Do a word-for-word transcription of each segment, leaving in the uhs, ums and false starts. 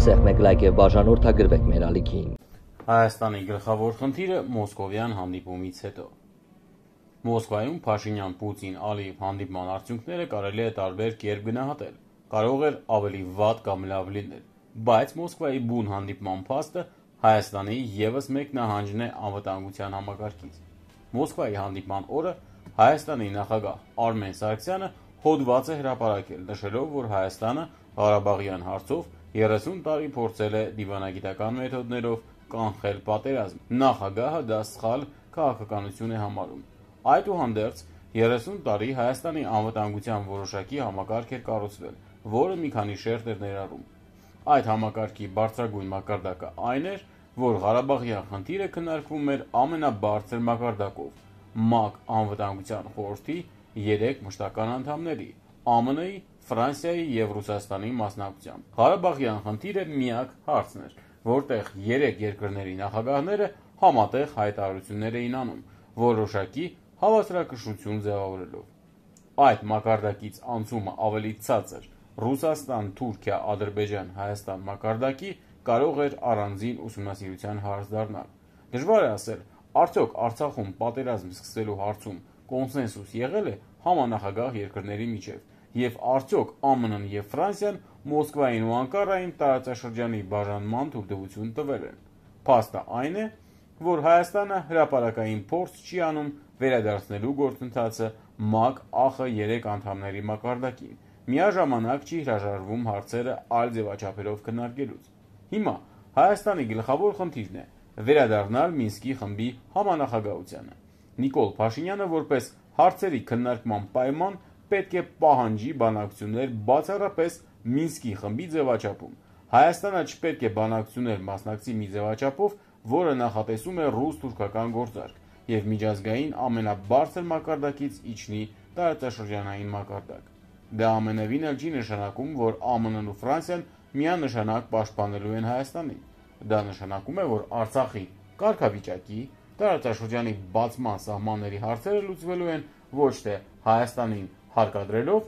Սեղմեք լայք եւ բաժանորդագրվեք մեր ալիքին։ Հայաստանի գլխավոր խնդիրը մոսկովյան հանդիպումից հետո։ Մոսկվայում Փաշինյան-Պուտին-Ալիև հանդիպման արդյունքները կարելի է տարբեր կերպ գնահատել։ Կարող էր ավելի վատ կամ լավ լինել, բայց Մոսկվայի բուն հանդիպման փաստը Հայաստանի ևս մեկ նահանջն է անվտանգության համակարգից։ Մոսկվայի հանդիպման օրը Հայաստանի նախագահ Արմեն Սարգսյանը հոդված է հրապարակել, նշելով, որ Հայաստանը Ղարաբաղյան հարցով երեսուն տարի փորձել է դիվանագիտական մեթոդներով կանխել պատերազմ։ Նախագահը դա սխալ քաղաքականություն է համարում։ Այդուհանդերձ, երեսուն տարի Հայաստանի անվտանգության որոշակի համակարգ էր կառուցվել, որը մի քանի շերտ էր ներառում։ Այդ համակարգի բարձրագույն մակարդակը այն էր, որ Ղարաբաղյան խնդիրը քննարկվում էր ամենաբարձր մակարդակով ՄԱԿ Անվտանգության խորհրդի երեք մշտական անդամների՝ ԱՄՆ-ի, Ֆրանսիայի և Ռուսաստանի մասնակցությամբ։ Ղարաբաղյան խնդիրը միակ հարցն էր, որտեղ երեք երկրների նախագահները համատեղ հայտարարություններ էին անում, որոշակի հավասարակշռություն ձևավորելով։ Այդ մակարդակից անցումը ավելի ցածր Ռուսաստան, Թուրքիա, Ադրբեջան, Հայաստան մակարդակի կարող էր առանձին ուսումնասիրության հարց դառնալ։ Դժվար է ասել, արդյոք Արցախում պատերազմ սկսելու հարցում կոնսենսուս եղել է համանախագահ երկրների միջև, և արդյոք ԱՄՆ-ն և Ֆրանսիան Մոսկվային ու Անկարային տարածաշրջանի բաժանման թույլտվություն տվել են։ Փաստը այն է, որ Հայաստանը հրապարակային փորձ չի անում վերադարձնելու գործընթացը ՄԱԿ ԱԽ երեք անդամների մակարդակին, միաժամանակ չի հրաժարվում հարցերը այլ ձևաչափերով քննարկելուց։ Հիմա Հայաստանի գլխավոր խնդիրն է վերադառնալ Մինսկի խմբի համանախագահությանը։ Նիկոլ Փաշինյանը որպես հարցերի քննարկման պայման պետք է պահանջի բանակցություններ բացառապես Մինսկի խմբի ձևաչափում։ Հայաստանը չպետք է բանակցություններ մասնակցի մի ձևաչափով, որը նախատեսում է ռուս-թուրքական գործարք և միջազգային ամենաբարձր մակարդակից իջնի տարածաշրջանային մակարդակ։ Դա ամենևին էլ չի նշանակում, որ ԱՄՆ-ն ու Ֆրանսիան միանշանակ պաշտպանելու են Հայաստանին։ Դա նշանակում է, որ Արցախի կարգավիճակի, տարածաշրջանի բացման սահմանների հարցերը լուծվելու են ոչ թե Հայաստանին հարկադրելով,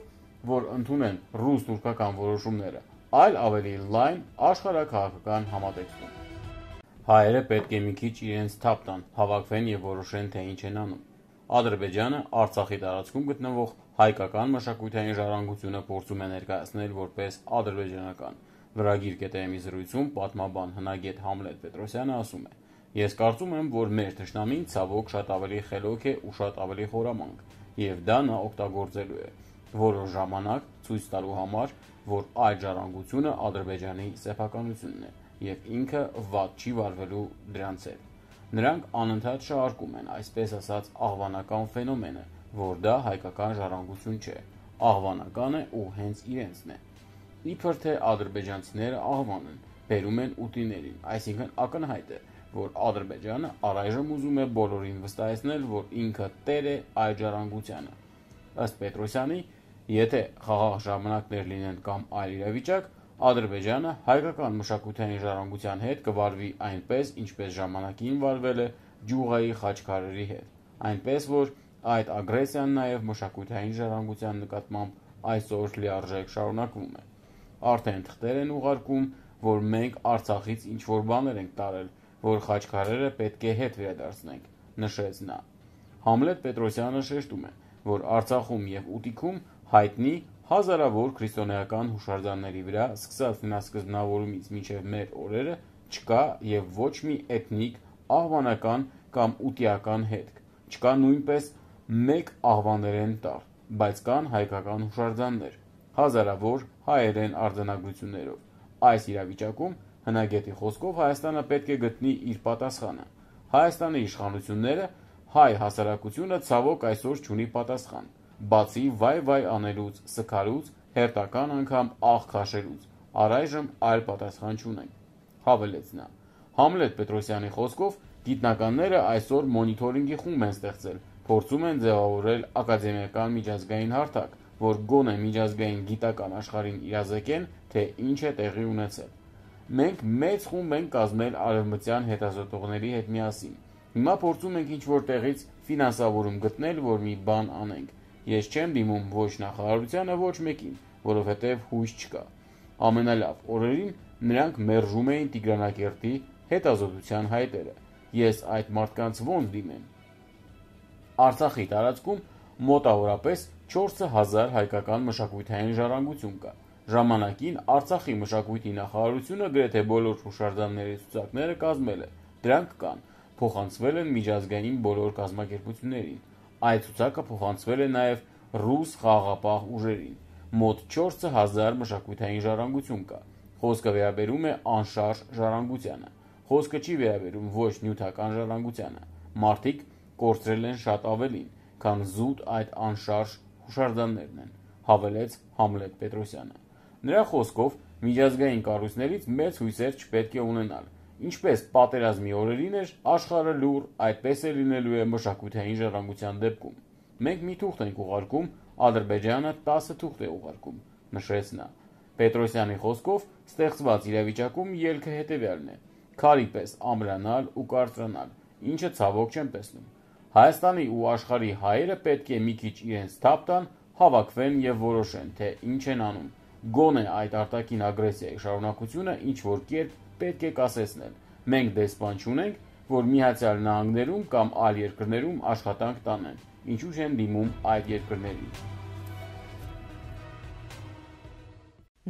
որ ընդունեն ռուս-թուրքական որոշումները, այլ ավելի լայն աշխարհաքաղաքական համատեքստում։ Հայերը պետք է մի քիչ իրենց թափ տան, հավաքվեն և որոշեն, թե ինչ են անում։ Ադրբեջանը Արցախի տարածքում գտնվող հայկական մշակութային ժառանգությունը փորձում է ներկայացնել որպես ադրբեջանական։ Վրագիր կետ-ի զրույցում պատմաբան հնագետ Համլետ Պետրոսյանը ասում է. «Ես կարծում եմ, որ մեր թշնամին ցավոք շատ ավելի խելոք է ու շատ ավելի խորամանկ, և դա նա օգտագործելու է որոշ ժամանակ ցույց տալու համար, որ այդ ժառանգությունը Ադրբեջանի սեփականությունն է, և ինքը վատ չի վարվելու դրանց հետ։ Նրանք անընդհատ շահարկում են, այսպես ասած, աղվանական ֆենոմենը, որ դա հայկական ժառանգություն չէ, աղվանական է ու հենց իրենցն է։ Իբր թե ադրբեջանցիները աղվան են, բերում են ուտիներին, այսինքն ակնհայտ է, որ Ադրբեջանը առայժմ ուզում է բոլորին վստահեցնել, որ ինքը տեր է այդ ժառանգությանը։ Ըստ Պետրոսյանի, եթե խաղաղ ժամանակներ լինեն կամ այլ իրավիճակ, Ադրբեջանը հայկական մշակութային ժառանգության հետ կվարվի այնպես, ինչպես ժամանակին վարվել է Ջուղայի խաչքարերի հետ, այնպես որ այդ ագրեսիան նաև մշակութային ժառանգության նկատմամբ այսօր լիարժեք շարունակվում է։ Արդեն թղթեր են ուղարկում, որ մենք Արցախից ինչ-որ բաներ ենք տարել, որ խաչքարերը պետք է հետ վերադարձնենք», նշեց նա։ Համլետ Պետրոսյանը շեշտում է, որ Արցախում և Ուտիքում հայտնի հազարավոր քրիստոնեական հուշարձանների վրա սկսած նախասկզբնավորումից մինչև մեր օրերը չկա և ոչ մի էթնիկ, աղվանական կամ ուտիական հետք, չկա նույնպես մեկ աղվաներեն տառ, բայց կան հայկական հուշարձաններ, հազարավոր հայերեն արձանագրություններով։ Այս իրավիճակում, հնագետի խոսքով, Հայաստանը պետք է գտնի իր պատասխանը։ Հայաստանի իշխանությունները, հայ հասարակությունը ցավոք այսօր չունի պատասխան, բացի վայ-վայ անելուց, սգալուց, հերթական անգամ աղ քաշելուց, առայժմ այլ պատասխան չունենք, հավելեց նա։ Համլետ Պետրոսյանի խոսքով, գիտնականները այսօր մոնիթորինգի խումբ են ստեղծել, փորձում են ձևավորել ակադեմիական միջազգային հարթակ, որ գոնե միջազգային գիտական աշխարհին իրազեկեն, թե ինչ է տեղի ունեցել։ Մենք մեծ խումբ ենք կազմել արևմտյան հետազոտողների հետ միասին։ Հիմա փորձում ենք ինչ-որ տեղից ֆինանսավորում գտնել, որ մի բան անենք։ Ես չեմ դիմում ոչ նախարարությանը, ոչ մեկին, որովհետև հույս չկա։ Ամենալավ օրերին նրանք մերժում էին Տիգրանակերտի հետազոտության հայտերը։ Ես այդ մարդկանց ոնց դիմեմ։ Արցախի տարածքում մոտավորապես չորս հազար հայկական մշակութային ժառանգություն կա։ Ժամանակին Արցախի մշակույթի նախարարությունը գրեթե բոլոր հուշարձանների ցուցակները կազմել է։ Դրանք կան, փոխանցվել են միջազգային բոլոր կազմակերպություններին։ Այդ ցուցակը փոխանցվել է նաև ռուս խաղաղապահ ուժերին։ Մոտ չորս հազար մշակութային ժառանգություն կա։ Խոսքը վերաբերում է անշարժ ժառանգությանը։ Խոսքը չի վերաբերում ոչ նյութական ժառանգությանը։ Մարդիկ կորցրել են շատ ավելին, քան զուտ այդ անշարժ հուշարձաններն են, հավելեց Համլետ Պետրոսյանը։ Նրա խոսքով միջազգային կառույցներից մեծ հույսեր չպետք է ունենալ։ Ինչպես պատերազմի օրերին էր աշխարհը լուր, այդպես է լինելու է մշակութային ժառանգության դեպքում։ Մենք մի թուղթ ենք ուղարկում, Ադրբեջանը տասը թուղթ է ուղարկում, նշեց նա։ Պետրոսյանի խոսքով ստեղծված իրավիճակում ելքը հետևյալն է. քարի պես ամրանալ ու կարծրանալ, ինչը ցավոք չեմ տեսնում։ Հայաստանի ու աշխարհի հայերը պետք է մի քիչ իրենց թափ տան, հավաքվեն եւ որոշեն, թե ինչ են անում։ Գոնե այդ արտաքին ագրեսիայի շարունակությունը ինչ որ կերպ պետք է կասեցնել։ Մենք դեսպան չունենք, որ Միացյալ Նահանգներում կամ այլ երկրներում աշխատանք տանեն, ինչու չեն դիմում այդ երկրներին։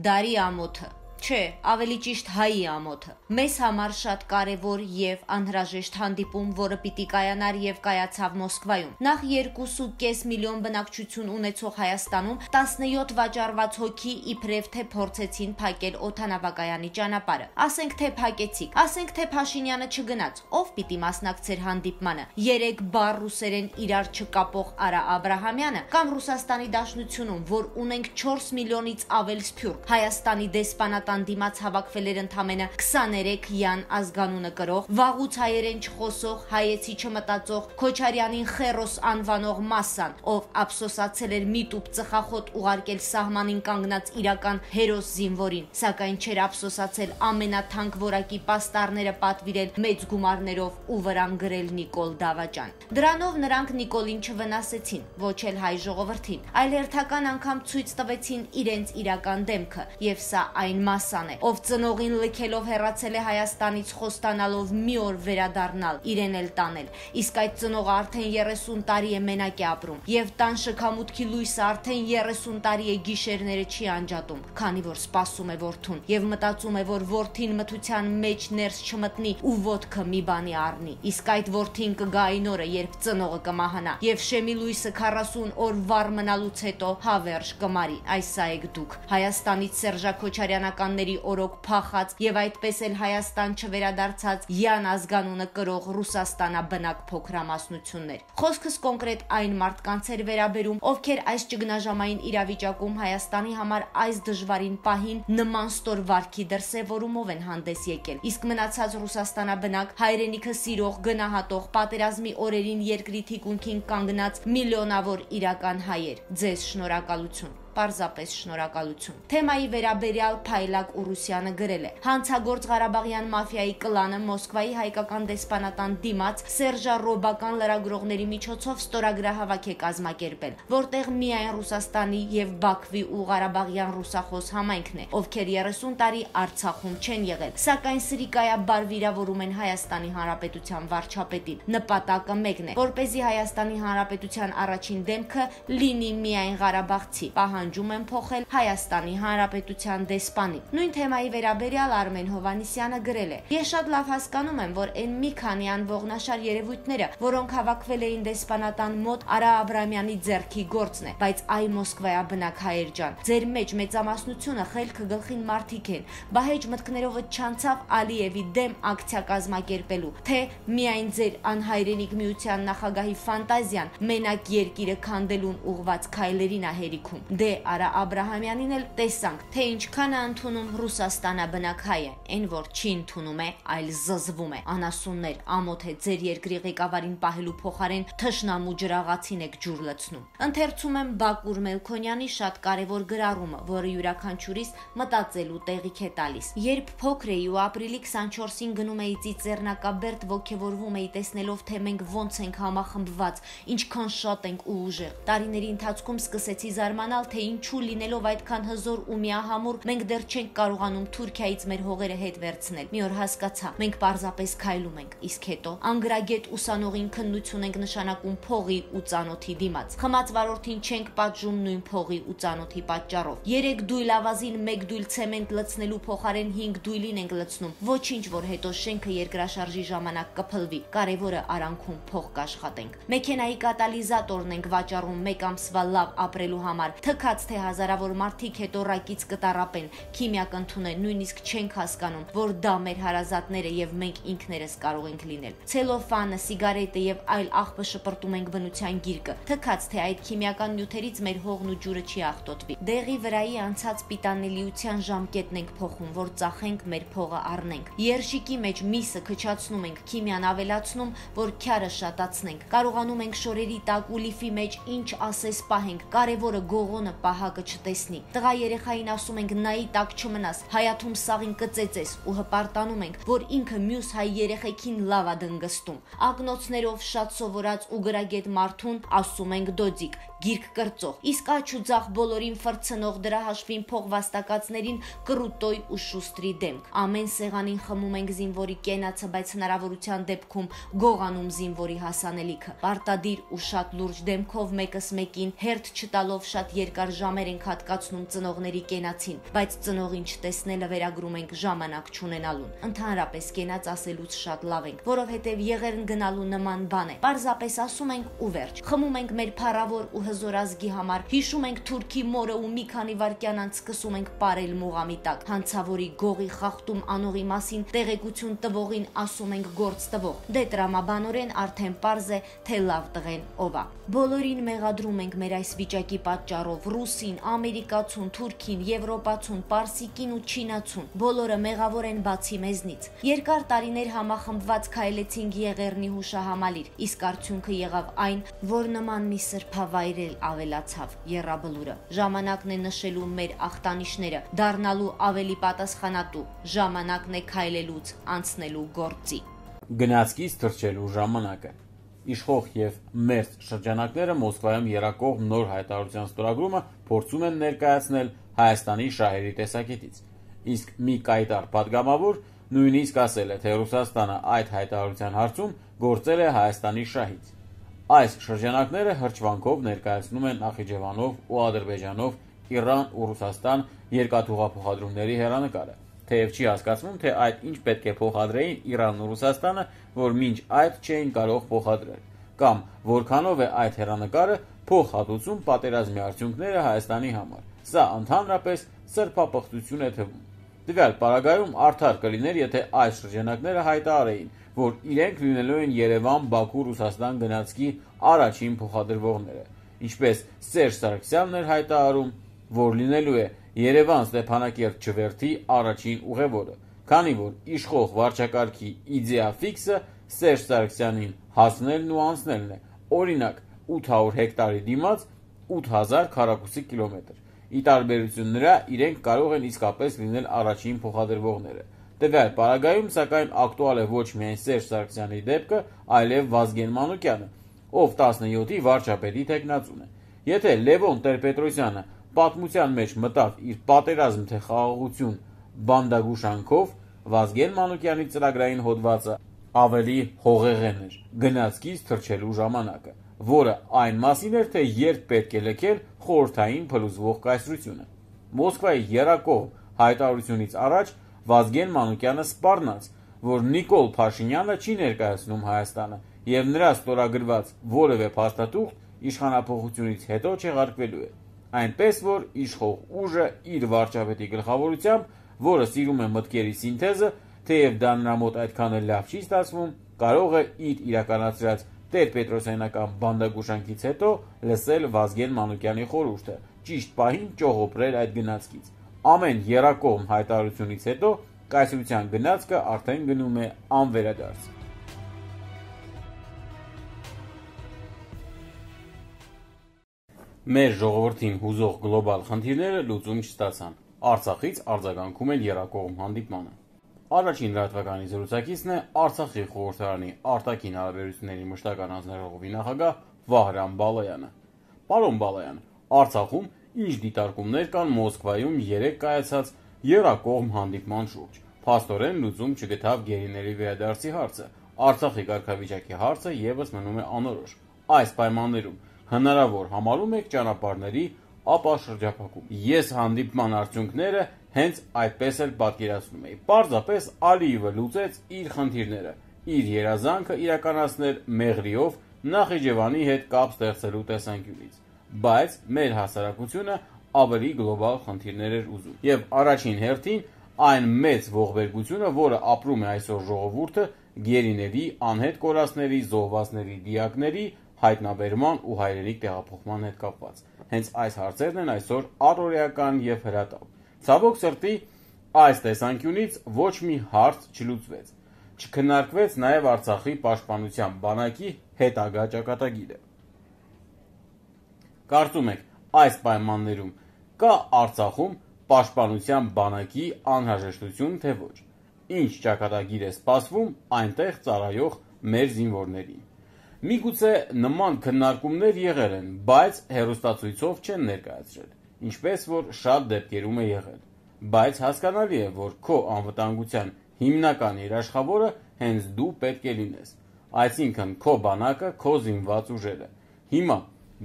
Դարի ամոթը Չէ, ավելի ճիշտ հայի ամոթը։ Մեզ համար շատ կարևոր եւ անհրաժեշտ հանդիպում, որը պիտի կայանար եւ կայացավ Մոսկվայում։ Նախ երկու ու կես միլիոն բնակչություն ունեցող Հայաստանում տասնյոթ վաճառված հոգի իբրև թե փորձեցին փակել օդանավակայանի ճանապարհը։ Ասենք թե փակեցիք, ասենք թե Փաշինյանը չգնաց, ով պիտի մասնակցեր հանդիպմանը։ Երեք բառ ռուսերեն իրար չկապող Արա Աբրահամյանը կամ Ռուսաստանի Դաշնությունում, որ ունենք չորս միլիոնից ավել սփյուռք, Հայաստանի դեսպանատան դիմաց հավաքվել էր ընդամենը քսաներեք յան ազգանունը կրող, վաղուց հայերեն չխոսող, հայեցի չմտածող Քոչարյանին խերոս անվանող մասսան, ով ափսոսացել էր միտուպ ծխախոտ ուղարկել սահմանին կանգնած իրական հերոս զինվորին, սակայն չէր ափսոսացել ամենաթանկ որակի պաստառները պատվիրել մեծ գումարներով ու վրան գրել Նիկոլ Դավաճան։ Դրանով նրանք Նիկոլին չվնասեցին, ոչ էլ հայ ժողովրդին, այլ հերթական անգամ ցույց տվեցին իրենց իրական դեմքը, եւ սա այն մասան է, ով ծնողին լքելով հեռացել է Հայաստանից խոստանալով մի օր վերադառնալ, իրեն էլ տանել, իսկ այդ ծնողը արդեն երեսուն տարի է մենակ է ապրում, եւ տան շքամուտքի լույսը արդեն երեսուն տարի է գիշերները չի անջատում, քանի որ սպասում է որդուն եւ մտածում է, որ որդին մթության մեջ ներս չմտնի ու ոտքը մի բանի առնի, իսկ այդ որդին կգա այն օրը, երբ ծնողը կմահանա, եւ շեմի լույսը քառասուն օր վառ մնալուց հետո հավերժ կմարի, այս սա եք դուք, Հայաստանից Սերժա Քոչարյանականների օրոք փախած եւ այդպես էլ Հայաստան չվերադարձած յան ազգանունը կրող Ռուսաստանաբնակ փոքրամասնություններ։ Խոսքս կոնկրետ այն մարդկանց էր վերաբերում, ովքեր այս ճգնաժամային իրավիճակում Հայաստանի համար այս դժվարին պահին նման ստոր վարքի դրսևորումով են հանդես եկել, իսկ մնացած Ռուսաստանաբնակ հայրենիքը սիրող, գնահատող, պատերազմի օրերին երկրի թիկունքին կանգնած միլիոնավոր իրական հայեր, ձեզ շնորհակալություն։ Պարզապես շնորհակալություն։ Թեմայի վերաբերյալ Փայլակ Ուրուսյանը գրել է. Հանցագործ Ղարաբաղյան մաֆիայի կլանը Մոսկվայի հայկական դեսպանատան դիմաց սերժառոբական լրագրողների միջոցով ստորագրահավաք է կազմակերպել, որտեղ միայն Ռուսաստանի եւ Բաքվի ու Ղարաբաղյան ռուսախոս համայնքն է, ովքեր երեսուն տարի Արցախում չեն եղել, սակայն սրիկայաբար վիրավորում են Հայաստանի Հանրապետության վարչապետին։ Նպատակը մեկն է, որպեսզի Հայաստանի Հանրապետության առաջին դեմքը լինի միայն Ղարաբաղցի։ Պահանջում են փոխել Հայաստանի Հանրապետության դեսպանին։ Նույն թեմայի վերաբերյալ Արմեն Հովանիսյանը գրել է. Ես շատ լավ հասկանում եմ, որ այն մի քանի անողնաշար երևույթները, որոնք հավաքվել էին դեսպանատան մոտ, Արա Աբրամյանի ձեռքի գործն է, բայց այ Մոսկվայաբնակ հայեր ջան, ձեր մեջ մեծամասնությունը խելքը գլխին մարդիկ են, բահեջ մտքներով չանցավ Ալիևի դեմ ակցիա կազմակերպելու, թե միայն ձեր անհայրենիք միության նախագահի ֆանտազիան մենակ երկիրը քանդելուն ուղված քայլերին է հերիքում։ Դե Արա Աբրահամյանին էլ տեսանք, թե ինչքան է ընդունում Ռուսաստանաբնակ հայը, այն որ չի ընդունում է, այլ զզվում է։ Անասուններ, ամոթ է ձեր երկրի ղեկավարին պահելու փոխարեն թշնամու ջրաղացին եք ջուր լցնում։ Ընթերցում եմ Բակուր Մելքոնյանի շատ կարևոր գրառումը, որը յուրաքանչյուրիս մտածելու տեղիք է տալիս։ Երբ փոքր էի ու ապրիլի քսանչորսին գնում էի Ծիծեռնակաբերդ, ոգևորվում էի տեսնելով, թե մենք ոնց ենք համախմբված, ինչքան շատ ենք ու ուժեղ։ Տարիների ընթացքում սկսեցի զարմանալ, թե թե ինչու լինելով այդքան հզոր ու միահամուռ մենք դեռ չենք կարողանում Թուրքիայից մեր հողերը հետ վերցնել։ Մի օր հասկացա, մենք պարզապես քայլում ենք, իսկ հետո անգրագետ ուսանողին քննություն ենք նշանակում փողի ու ծանոթի դիմաց։ Խմած վարորդին չենք պատժում նույն փողի ու ծանոթի պատճառով։ Երեք դույլ ավազին մեկ դույլ ցեմենտ լցնելու փոխարեն հինգ դույլին ենք լցնում։ Ոչինչ, որ հետո շենքը երկրաշարժի ժամանակ կփլվի։ Կարևորը արանքում փող կաշխատենք։ Մեքենայի կատալիզատորն ենք վաճառում մեկ ամսվա լավ ապրելու համար։ Թքած թե հազարավոր մարդիկ հետո ռակից կտարապեն, քիմիա կընդունեն, նույնիսկ չենք հասկանում, որ դա մեր հարազատները եւ մենք ինքներս կարող ենք լինել։ Ցելոֆանը, սիգարետը եւ այլ աղբը շպրտում ենք բնության գիրկը, թքած թե այդ քիմիական նյութերից մեր հողն ու ջուրը չի աղտոտվի։ Դեղի վրայի անցած պիտանելիության ժամկետն ենք փոխում, որ ծախենք մեր փողը առնենք։ Երշիկի մեջ միսը քչացնում ենք, քիմիան ավելացնում, որ քյարը շատացնենք։ Կարողանում ենք շորերի տակ ու լիֆի մեջ ինչ ասես պահենք, կարևորը գողոնը պահակը չտեսնի։ Տղա երեխային ասում ենք նայի տակ չմնաս, հայաթում սաղին կծեծես ու հպարտանում ենք, որ ինքը մյուս հայ երեխեքին լավ է դնգստում։ Ակնոցներով շատ սովորած ու գրագետ մարդուն ասում ենք դոձիկ, գիրք կրծող, իսկ աչ ու ձախ բոլորին ֆրցնող դրա հաշվին փող վաստակածներին կռուտոյ ու շուստրի դեմք։ Ամեն սեղանին խմում ենք զինվորի կենացը, բայց հնարավորության դեպքում գողանում զինվորի հասանելիքը։ Պարտադիր ու շատ լուրջ դեմքով մեկս մեկին հերթ չտալով շատ երկար ժամեր ենք հատկացնում ծնողների կենացին, բայց ծնողին չտեսնելը վերագրում ենք ժամանակ չունենալուն։ Ընդհանրապես կենաց ասելուց շատ լավ ենք, որովհետև եղերն գնալու նման բան է։ Պարզապես ասում ենք ու վերջ։ Խմում ենք մեր փառավոր ու հզոր ազգի համար, հիշում ենք թուրքի մորը ու մի քանի վայրկյան անց սկսում ենք ապարել մուղամի տակ։ Հանցավորի գողի խախտում անողի մասին տեղեկություն տվողին ասում ենք գործ տվող։ Դե տրամաբանորեն արդեն պարզ է, թե լավ տղեն ով է։ Բոլորին մեղադրում ենք մեր այս վիճակի պատճառով՝ ռուսին, ամերիկացուն, թուրքին, եվրոպացուն, պարսիկին ու չինացուն։ Բոլորը մեղավոր են բացի մեզնից։ Երկար տարիներ համախմբված քայլեցինք Եղեռնի հուշահամալիր, իսկ արդյունքը եղավ այն, որ նման մի սրբավայր էլ ավելացավ՝ Եռաբլուրը։ Ժամանակն է նշելու մեր ախտանիշները, դառնալու ավելի պատասխանատու։ Ժամանակն է քայլելուց անցնելու գործի։ Գնացքից թռչելու ժամանակը։ Իշխող եւ մերձ շրջանակները Մոսկվայում երակող նոր հայտարարության ստորագրումը փորձում են ներկայացնել Հայաստանի շահերի տեսակետից։ Իսկ մի կայտար падգամավոր նույնիսկ ասել է, թե Ռուսաստանը այդ հայտարարության հարցում գործել է Հայաստանի շահից։ Այս շրջանակները հրճվանքով ներկայացնում են Նախիջևանով ու Ադրբեջանով Իրան ու Ռուսաստան երկաթուղափոխադրումների հեռանկարը, թեև չի հասկացվում, թե այդ ինչ պետք է փոխադրեին Իրանն ու Ռուսաստանը, որ մինչ այդ չէին կարող փոխադրել, կամ որքանով է այդ հեռանկարը փոխհատուցում պատերազմի արդյունքները Հայաստանի համար։ Սա ընդհանրապես սրբապղծություն է թվում։ Տվյալ պարագայում արդար կլիներ, եթե այս շրջանակները հայտարարեին, որ իրենք լինելու են Երևան, Բաքու, Ռուսաստան գնացքի առաջին փոխադրվողները, ինչպես Սերժ Սարգսյանն էր հայտարարում, որ լինելու է Երևան Ստեփանակերտ չվերթի առաջին ուղևորը, քանի որ իշխող վարչակարգի իդեա ֆիքսը Սերժ Սարգսյանին հասնելն ու անցնելն է, օրինակ ութ հարյուր հեկտարի դիմաց ութ հազար քառակուսի կիլոմետր։ Ի տարբերություն նրա, իրենք կարող են իսկապես լինել առաջին փոխադրվողները։ Տվյալ պարագայում, սակայն, ակտուալ է ոչ միայն Սերժ Սարգսյանի դեպքը, այլև Վազգեն Մանուկյանը, ով տասնյոթի վարչապետի թեկնածուն է։ Եթե Լևոն Տեր-Պետրոսյանը պատմության մեջ մտավ իր պատերազմ թե խաղաղություն բանդագուշանքով, Վազգեն Մանուկյանի ծրագրային հոդվածը ավելի հողեղեն էր՝ գնացքից թռչելու ժամանակը, որը այն մասին էր, թե երբ պետք է լքել խորհրդային փլուզվող կայսրությունը։ Մոսկվայի եռակողմ հայտարարությունից առաջ Վազգեն Մանուկյանը սպառնաց, որ Նիկոլ Փաշինյանը չի ներկայացնում Հայաստանը եւ նրա ստորագրված որևէ փաստաթուղթ իշխանափոխությունից հետո չեղարկվելու է, այնպես որ իշխող ուժը իր վարչապետի գլխավորությամբ, որը սիրում է մտքերի սինթեզը, թեև դա նրա մոտ այդքան էլ լավ չի ստացվում, կարող է իր իրականացրած Տեր-Պետրոսյանական բանդագուշանքից հետո լսել Վազգեն Մանուկյանի խորհուրդը, ճիշտ պահին ճողոպրել այդ գնացքից։ Ամեն եռակողմ հայտարարությունից հետո կայսրության գնացքը արդեն գնում է անվերադարձ։ Մեր ժողովրդին հուզող գլոբալ խնդիրները լուծում չստացան։ Արցախից արձագանքում են եռակողմ հանդիպմանը։ Առաջին լրատվականի զրուցակիցն է Արցախի խորհրդարանի արտաքին հարաբերությունների մշտական հանձնաժողովի նախագահ Վահրամ Բալայանը։ Պարոն Բալայան, Արցախում ինչ դիտարկումներ կան Մոսկվայում երեկ կայացած եռակողմ հանդիպման շուրջ։ Փաստորեն լուծում չգտավ գերիների վերադարձի հարցը, Արցախի կարգավիճակի հարցը ևս մնում է անորոշ։ Այս պայմաններում հնարավոր համարում եք ճանապարհների ապաշրջափակում։ Ես հանդիպման արդյունքները հենց այդպես էլ պատկերացնում էի։ Պարզապես Ալիևը լուծեց իր խնդիրները, իր երազանքը իրականացնել Մեղրիով Նախիջևանի հետ կապ ստեղծելու տեսանկյունից, բայց մեր հասարակությունը ավելի գլոբալ խնդիրներ էր ուզում։ Եվ առաջին հերթին այն մեծ ողբերգությունը, որը ապրում է այսօր ժողովուրդը գերիների, անհետ կորածների, զոհվածների, դիակների հայտնաբերման ու հայրենիք տեղափոխման հետ կապված։ Հենց այս հարցերն են այսօր առօրեական եւ հրատապ։ Ցավոք սրտի, այս տեսանկյունից ոչ մի հարց չլուծվեց։ Չքննարկվեց նաեւ Արցախի պաշտպանության բանակի հետագա ճակատագիրը։ Կարծում եք, այս պայմաններում կա Արցախում պաշտպանության բանակի անհրաժեշտություն, թե ոչ։ Ինչ ճակատագիր է սպասվում այնտեղ ծառայող մեր զինվորներին։ Միգուցե նման քննարկումներ եղել են, բայց հեռուստացույցով չեն ներկայացրել, ինչպես որ շատ դեպքերում է եղել։ Բայց հասկանալի է, որ քո անվտանգության հիմնական երաշխավորը հենց դու պետք է լինես, այսինքն քո բանակը, քո զինված ուժերը։ Հիմա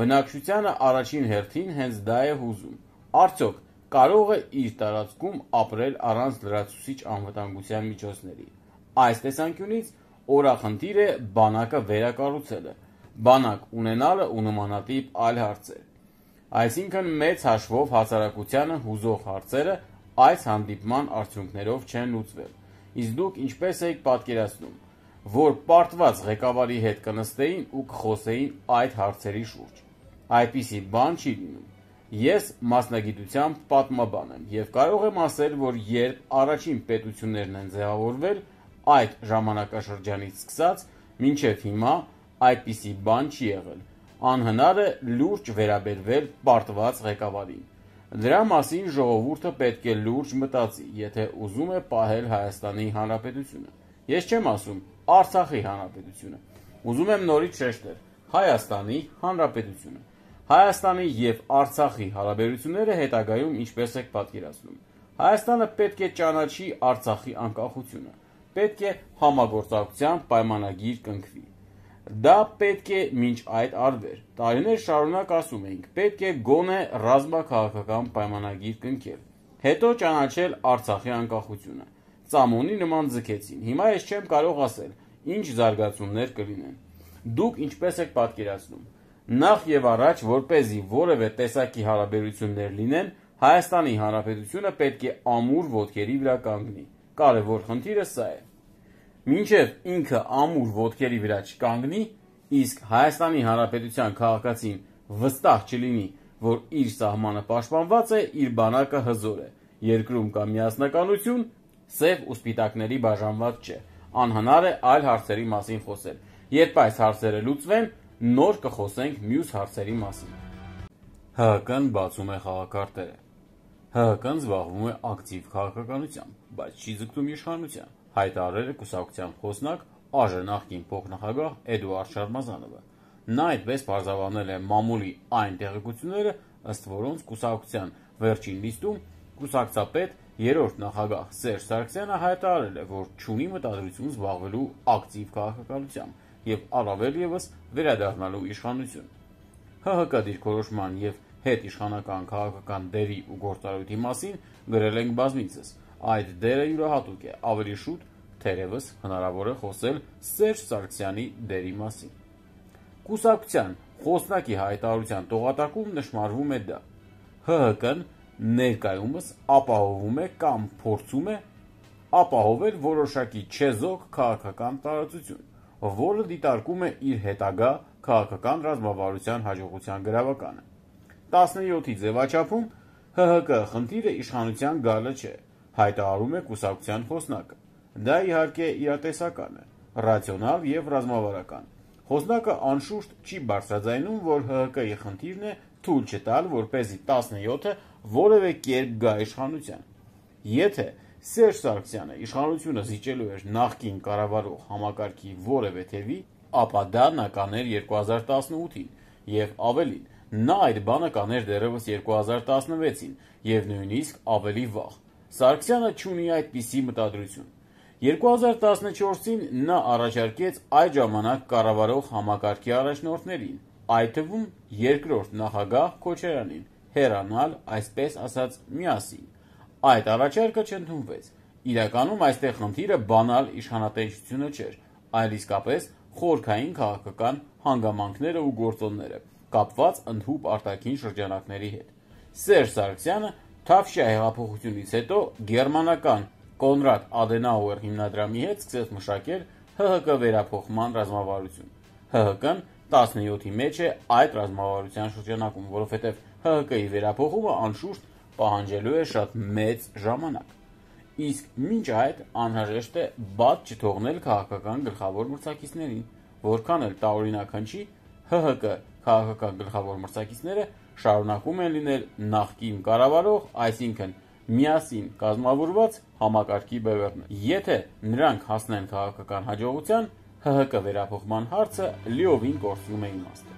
բնակչությանը առաջին հերթին հենց դա է հուզում։ Արդյոք կարող է իր տարածքում ապրել առանց լրացուցիչ անվտանգության միջոցների։ Այս տեսանկյունից օրախնդիր է բանակը վերակառուցելը, բանակ ունենալը ու նմանատիպ այլ հարցեր։ Այսինքն մեծ հաշվով հասարակությանը հուզող հարցերը այս հանդիպման արդյունքներով չեն լուծվել։ Իսկ դուք ինչպես եք պատկերացնում, որ պարտված ղեկավարի հետ կնստեին ու կխոսեին այդ հարցերի շուրջ։ Այդպիսի բան չի լինում։ Ես մասնագիտությամբ պատմաբան եմ եւ կարող եմ ասել, որ երբ առաջին պետություններն են ձևավորվել, այդ ժամանակաշրջանից սկսած մինչև հիմա այդպիսի բան չի եղել։ Անհնար է լուրջ վերաբերվել պարտված ղեկավարին։ Դրա մասին ժողովուրդը պետք է լուրջ մտածի, եթե ուզում է պահել Հայաստանի Հանրապետությունը։ Ես չեմ ասում Արցախի Հանրապետությունը։ Ուզում եմ նորից շեշտել Հայաստանի Հանրապետությունը։ Հայաստանի եւ Արցախի հարաբերությունները հետագայում ինչպես եք պատկերացնում։ Հայաստանը պետք է ճանաչի Արցախի անկախությունը, պետք է համագործակցության պայմանագիր կնքվի։ Դա պետք է մինչ այդ արվեր։ Տարիներ շարունակ ասում էինք, պետք է գոնե ռազմաքաղաքական պայմանագիր կնքել, հետո ճանաչել Արցախի անկախությունը։ Ծամոնի նման ձգեցին։ Հիմա ես չեմ կարող ասել, ինչ զարգացումներ կլինեն։ Դուք ինչպես եք պատկերացնում։ Նախ եւ առաջ, որպեսզի որևէ տեսակի հարաբերություններ լինեն, Հայաստանի Հանրապետությունը պետք է ամուր ոտքերի վրա կանգնի։ Կարևոր խնդիրը սա է։ Մինչև ինքը ամուր ոտքերի վրա չկանգնի, իսկ Հայաստանի Հանրապետության քաղաքացին վստահ չլինի, որ իր սահմանը պաշտպանված է, իր բանակը հզոր է, երկրում կա միասնականություն, սև ու սպիտակների բաժանված չէ։ Անհնար է այլ հարցերի մասին խոսել։ Երբ այս հարցերը լուծվեն, նոր կխոսենք մյուս հարցերի մասին։ ՀՀԿ-ն բացում է խաղակարտերը։ ՀՀԿ-ն զբաղվում է ակտիվ քաղաքականությամբ, բայց չի ձգտում իշխանության, հայտարարել է կուսակցության խոսնակ ԱԺ նախկին փոխնախագահ Էդուարդ Շարմազանովը։ Նա այդպես պարզաբանել է մամուլի այն տեղեկությունները, ըստ որոնց կուսակցության վերջին լիստում կուսակցապետ երրորդ նախագահ Սերժ Սարգսյանը հայտարարել է, որ չունի մտադրություն զբաղվելու ակտիվ քաղաքականությամբ եւ առավել եւս վերադառնալու իշխանություն։ ՀՀԿ դիրքորոշման եւ հետիշխանական քաղաքական դերի ու գործառույթի մասին գրել ենք բազմիցս։ Այդ դերը յուրահատուկ է, ավելի շուտ թերևս հնարավոր է խոսել Սերժ Սարգսյանի դերի մասին։ Կուսակցության խոսնակի հայտարարության տողատակում նշмарվում է դա։ ՀՀԿ-ն ներկայումս ապահովում է կամ փորձում է ապահովել որոշակի չեզոք քաղաքական տարածություն, որը դիտարկում է իր հետագա քաղաքական ռազմավարության հաջողության գրավականը։ տասնյոթի ձևաչափում ՀՀԿ խնդիրը իշխանության գալը չէ, հայտարարում է կուսակցության խոսնակը։ Դա իհարկե իրատեսական է, ռացիոնալ եւ ռազմավարական։ Խոսնակը անշուշտ չի բարձրաձայնում, որ ՀՀԿ-ի խնդիրն է թույլ չտալ, որպեսզի տասնյոթը որևէ կերպ գա իշխանության։ Եթե Սերժ Սարգսյանը իշխանությունը զիջելու էր նախկին կառավարող համակարգի որևէ թևի, ապա դա նա կաներ երկու հազար տասնութին եւ ավելին, նա այդ բանը կաներ դեռևս երկու հազար տասնվեցին եւ նույնիսկ ավելի վաղ։ Սարգսյանը չունի այդպիսի մտադրություն։ երկու հազար տասնչորսին նա առաջարկեց այդ ժամանակ կառավարող համակարգի առաջնորդներին, այդ թվում երկրորդ նախագահ Քոչարյանին, հեռանալ, այսպես ասած, միասին։ Այդ առաջարկը չընդունվեց։ Իրականում այստեղ խնդիրը բանալ իշխանատենչությունը չէր, այլ իսկապես խորքային քաղաքական հանգամանքները ու գործոնները, կապված ընդհուպ արտաքին շրջանակների հետ։ Սերժ Սարգսյանը Թավշյա հեղափոխությունից հետո գերմանական Կոնրադ Ադենաուեր հիմնադրամի հետ սկսեց մշակել Հ Հ Կ վերափոխման ռազմավարություն։ Հ Հ Կ-ն տասնյոթի մեջ է այդ ռազմավարության շրջանակում, որովհետև Հ Հ Կ-ի վերափոխումը անշուշտ պահանջելու է շատ մեծ ժամանակ։ Իսկ մինչ այդ անհրաժեշտ է բաց չթողնել քաղաքական գլխավոր մրցակիցներին, որքան էլ տարօրինակ հնչի, Հ Հ Կ քաղաքական գլխավոր մրցակիցները շարունակում են լինել նախկին կառավարող, այսինքն միասին կազմավորված համակարգի բևեռներ։ Եթե նրանք հասնեն քաղաքական հաջողության, Հ Հ Կ վերափոխման հարցը լիովին կորցնում է իմաստը։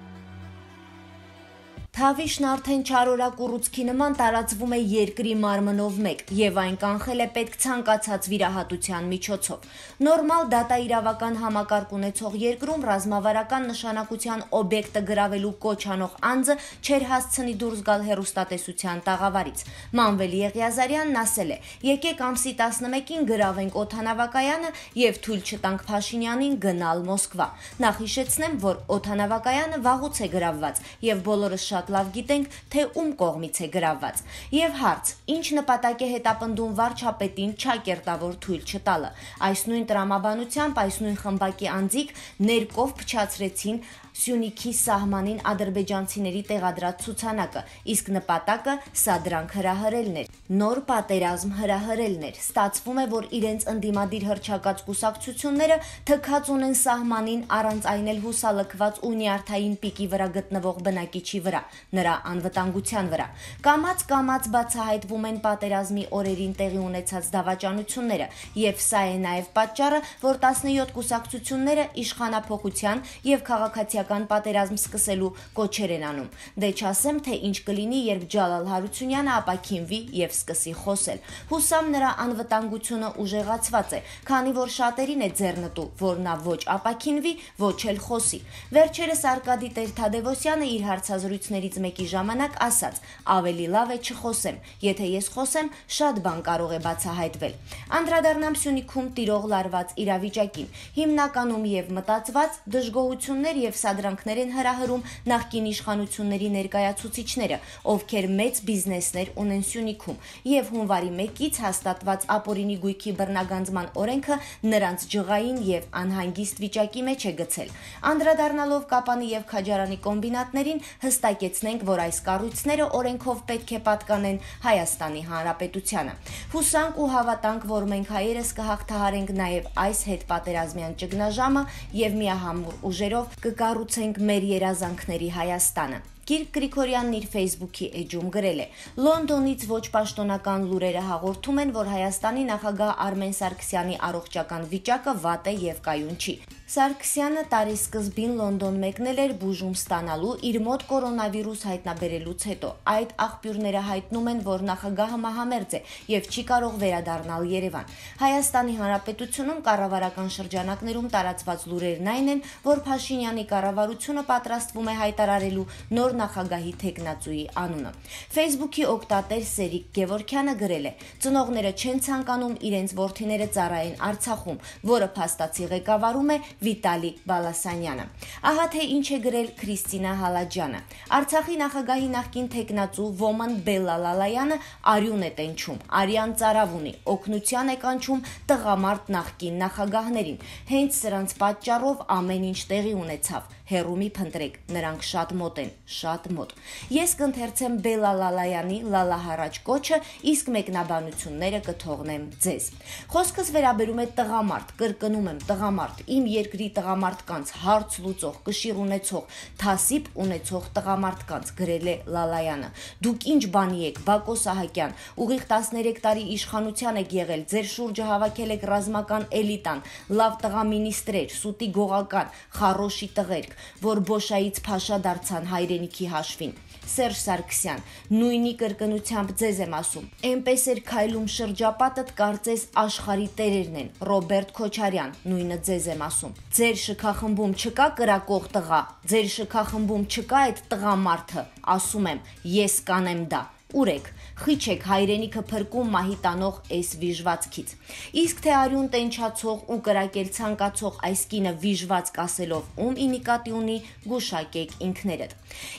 Թավիշն արդեն չարորակ ուռուցքի նման տարածվում է երկրի մարմնով մեկ եւ այն կանխել է պետք ցանկացած վիրահատության միջոցով։ Նորմալ դատաիրավական համակարգ ունեցող երկրում ռազմավարական նշանակության օբյեկտը գրավելու կոչ անող անձը չեր հասցնի դուրս գալ հեռուստատեսության տաղավարից։ Մանվել Եղիազարյանն ասել է. «Եկեք ամսի տասնմեկին գրավենք օդանավակայանը եւ թույլ չտանք Փաշինյանին գնալ Մոսկվա»։ Նախ հիշեցնեմ, որ օդանավակայանը վաղուց է գրավված եւ բոլորս շատ լավ գիտենք, թե ում կողմից է գրավված։ Եվ հարց. ինչ նպատակ է հետապնդում վարչապետին չակերտավոր թույլ չտալը։ Այս նույն տրամաբանությամբ այս նույն խմբակի անձիկ ներկով փչացրեցին Սյունիքի սահմանին ադրբեջանցիների տեղադրած ցուցանակը, իսկ նպատակը սադրանք հրահրելն էր, նոր պատերազմ հրահրելն էր։ Ստացվում է, որ իրենց ընդդիմադիր հռչակած կուսակցությունները թքած ունեն սահմանին առանց այն էլ հուսալքված ու նյարդային պիկի վրա գտնվող բնակիչի վրա, նրա անվտանգության վրա։ Կամաց-կամաց բացահայտվում են պատերազմի օրերին տեղի ունեցած դավաճանությունները, եւ սա է նաեւ պատճառը, որ տասնյոթ կուսակցությունները իշխանափոխության եւ քաղաքացիական պատերազմ սկսելու կոչեր են անում։ Դե չասեմ, թե ինչ կլինի, երբ Ջալալ Հարությունյանը ապաքինվի եւ սկսի խոսել։ Հուսամ նրա անվտանգությունը ուժեղացված է, քանի որ շատերին է ձեռնտու, որ նա ոչ ապաքինվի, ոչ էլ խոսի։ Վերջերս Արկադի Տեր-Թադևոսյանը իր հարցազրույցներից մեկի ժամանակ ասաց. ավելի լավ է չխոսեմ, եթե ես խոսեմ, շատ բան կարող է բացահայտվել։ Անդրադառնամ Սյունիքում տիրող լարված իրավիճակին։ Հիմնականում եւ մտածված դժգոհություններ եւ սադրանքներ են հրահրում նախկին իշխանությունների ներկայացուցիչները, ովքեր մեծ բիզնեսներ ունեն Սյունիքում, եւ հունվարի մեկից հաստատված ապօրինի գույքի բռնագանձման օրենքը նրանց ջղային եւ անհանգիստ վիճակի մեջ է գցել։ Անդրադառնալով Կապանի եւ Քաջարանի կոմբինատներին, հստակեցնենք, որ այս կառույցները օրենքով պետք է պատկանեն Հայաստանի Հանրապետությանը։ Հուսանք ու հավատանք, որ մենք հայերս կհաղթահարենք նաեւ այս հետպատերազմյան ճգնաժամը եւ միահամուռ ուժերով կկառուցենք մեր երազանքների Հայաստանը։ Կիրք Գրիգորյանն իր Facebook-ի էջում գրել է. Լոնդոնից ոչ պաշտոնական լուրերը հաղորդում են, որ Հայաստանի նախագահ Արմեն Սարգսյանի առողջական վիճակը վատ է եւ կայուն չի։ Սարգսյանը տարի սկզբին Լոնդոն մեկնել էր բուժում ստանալու իր մոտ կորոնավիրուս հայտնաբերելուց հետո։ Այդ աղբյուրները հայտնում են, որ նախագահը մահամերձ է եւ չի կարող վերադառնալ Երևան։ Հայաստանի Հանրապետությունում կառավարական շրջանակներում տարածված լուրերն այն են, որ Փաշինյանի կառավարությունը պատրաստվում է հայտարարելու նոր նախագահի թեկնածուի անունը։ Facebook-ի օգտատեր Սերիկ Գևորքյանը գրել է. ծնողները չեն ցանկանում իրենց որդիները ծառայեն Արցախում, որը փաստացի ղեկավարում է Վիտալի Բալասանյանը։ Ահա թե ինչ է գրել Քրիստինա Հալաջյանը։ Արցախի նախագահի նախկին թեկնածու Ոման Բելալալայանը արյուն է տենչում, արյան ծարավ ունի, օգնության է կանչում տղամարդ նախկին նախագահներին։ Հենց սրանց պատճառով ամեն ինչ տեղի ունեցավ։ Հերու մի փնտրեք, նրանք շատ մոտ են, շատ մոտ։ Ես կընթերցեմ Բելալալայանի լալահարաճ կոչը, իսկ մեկնաբանությունները կթողնեմ ձեզ։ Խոսքս վերաբերում է տղամարդ, կրկնում եմ, տղամարդ, իմ երկրի տղամարդկանց հարց լուծող, կշիռ ունեցող, թասիբ ունեցող տղամարդկանց, գրել է Լալայանը։ Դուք ինչ բանի եք, Բակո Սահակյան, ուղիղ տասներեք տարի իշխանության եք եղել, ձեր շուրջը հավաքել եք ռազմական էլիտան, լավ տղա մինիստրեր, սուտի գողական, խառոշի տղերք, որ Բոշայից փաշա դարձան հայրենիքի հաշվին։ Սերժ Սարգսյան, նույնի կրկնությամբ ձեզ եմ ասում, էնպես էր քայլում շրջապատդ, կարծես աշխարհի տերերն են։ Ռոբերտ Քոչարյան, նույնը ձեզ եմ ասում։ Ձեր շքախմբում չկա կրակող տղա, ձեր շքախմբում չկա այդ տղամարդը, ասում եմ, ես կանեմ դա։ Ուր եք, խիչ եք հայրենիքը փրկում մահի տանող այս վիժվածքից։ Իսկ թե արյուն տենչացող ու կրակել ցանկացող այս կինը վիժվածք ասելով ում ի նկատի ունի, գուշակեք ինքներդ։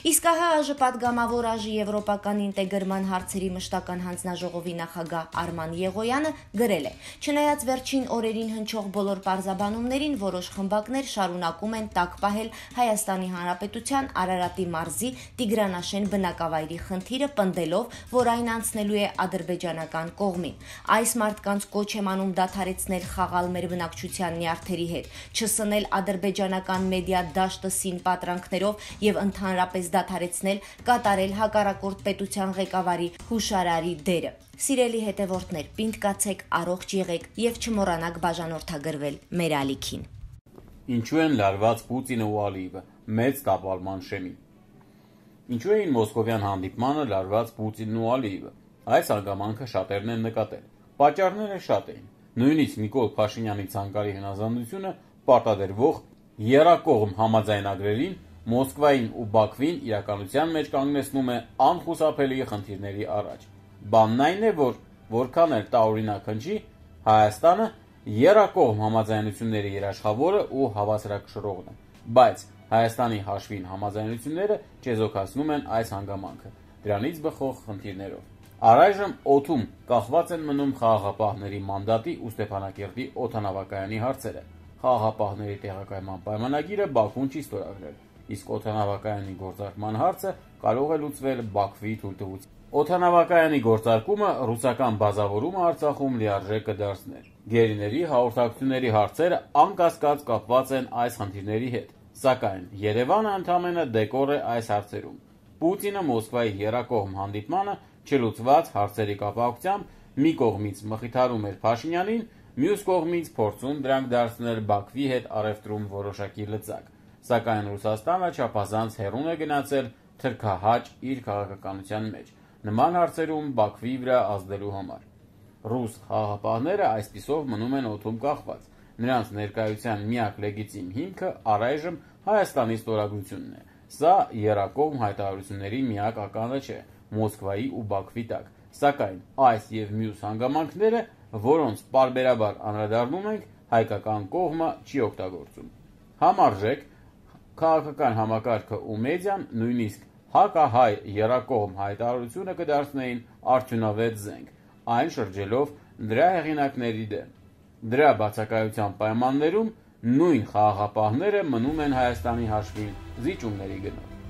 Իսկ ահա ԱԺ պատգամավոր ԱԺ Եվրոպական ինտեգրման հարցերի մշտական հանձնաժողովի նախագահ Արման Եղոյանը գրել է. չնայած վերջին օրերին հնչող բոլոր պարզաբանումներին, որոշ խմբակներ շարունակում են տակ պահել Հայաստանի Հանրապետության Արարատի մարզի Տիգրանաշեն բնակավայրի խնդիրը, պնդելով, որ այն անցնելու է ադրբեջանական կողմին։ Այս մարդկանց կոչ եմ անում դադարեցնել խաղալ մեր բնակչության նյարդերի հետ, չսնել ադրբեջանական մեդիա դաշտը սին պատրանքներով եւ ընդհանրապես դադարեցնել կատարել հակառակորդ պետության ղեկավարի հուշարարի դերը։ Սիրելի հետևորդներ, պինդ կացեք, առողջ եղեք եւ չմոռանաք բաժանորդագրվել մեր ալիքին։ Ինչու են լարված Պուտինը ու Ալիևը մեծ տապալման շեմին։ Ինչու էին մոսկովյան հանդիպմանը լարված Պուտինն ու Ալիևը։ Այս հանգամանքը շատերն են նկատել։ Պատճառները շատ էին։ Նույնիսկ Նիկոլ Փաշինյանի ցանկալի հնազանդությունը պարտադրվող եռակողմ համաձայնագրերին Մոսկվային ու Բաքվին իրականության մեջ կանգնեցնում է անխուսափելի խնդիրների առաջ։ Բանն այն է, որ որքան էլ տարօրինակ հնչի, Հայաստանը եռակողմ համաձայնությունների երաշխավորը ու հավասարակշռողն է, բայց Հայաստանի հաշվին համաձայնությունները չեզոքացնում են այս հանգամանքը, դրանից բխող խնդիրներով։ Առայժմ օդում կախված են մնում խաղաղապահների մանդատի ու Ստեփանակերտի օդանավակայանի հարցերը։ Խաղաղապահների տեղակայման պայմանագիրը Բաքուն չի ստորագրել, իսկ օդանավակայանի գործարկման հարցը կարող է լուծվել Բաքվի թույլտվությամբ։ Օդանավակայանի գործարկումը ռուսական բազավորումը Արցախում լիարժեք կդարձներ։ Գերիների հաղորդակցությունների հարցերը անկասկած կապված են այս խնդիրների հետ, սակայն Երևանը ընդամենը դեկոր է այս հարցերում։ Պուտինը Մոսկվայի եռակողմ հանդիպմանը չլուծված հարցերի կապակցությամբ մի կողմից մխիթարում էր Փաշինյանին, մյուս կողմից փորձում դրանք դարձնել Բաքվի հետ առևտրում որոշակի լծակ, սակայն Ռուսաստանը չափազանց հեռուն է գնացել թրքահաճ իր քաղաքականության մեջ, նման հարցերում Բաքվի վրա ազդելու համար։ Ռուս խաղաղապահները այսպիսով մնում են օդում կախված։ Նրանց ներկայության միակ լեգիտիմ հիմքը առայժմ Հայաստանի ստորագրությունն է։ Սա եռակողմ հայտարարությունների միակ ականը չէ Մոսկվայի ու Բաքվի տակ, սակայն այս եւ մյուս հանգամանքները, որոնց պարբերաբար անդրադառնում ենք, հայկական կողմը չի օգտագործում։ Համարժեք քաղաքական համակարգը ու մեդիան նույնիսկ հակահայ եռակողմ հայտարարությունը կդարձնեին արդյունավետ զենք, այն շրջելով դրա հեղինակների դեմ։ Դրա բացակայության պայմաններում նույն խաղաղապահները մնում են Հայաստանի հաշվին զիջումների գնով։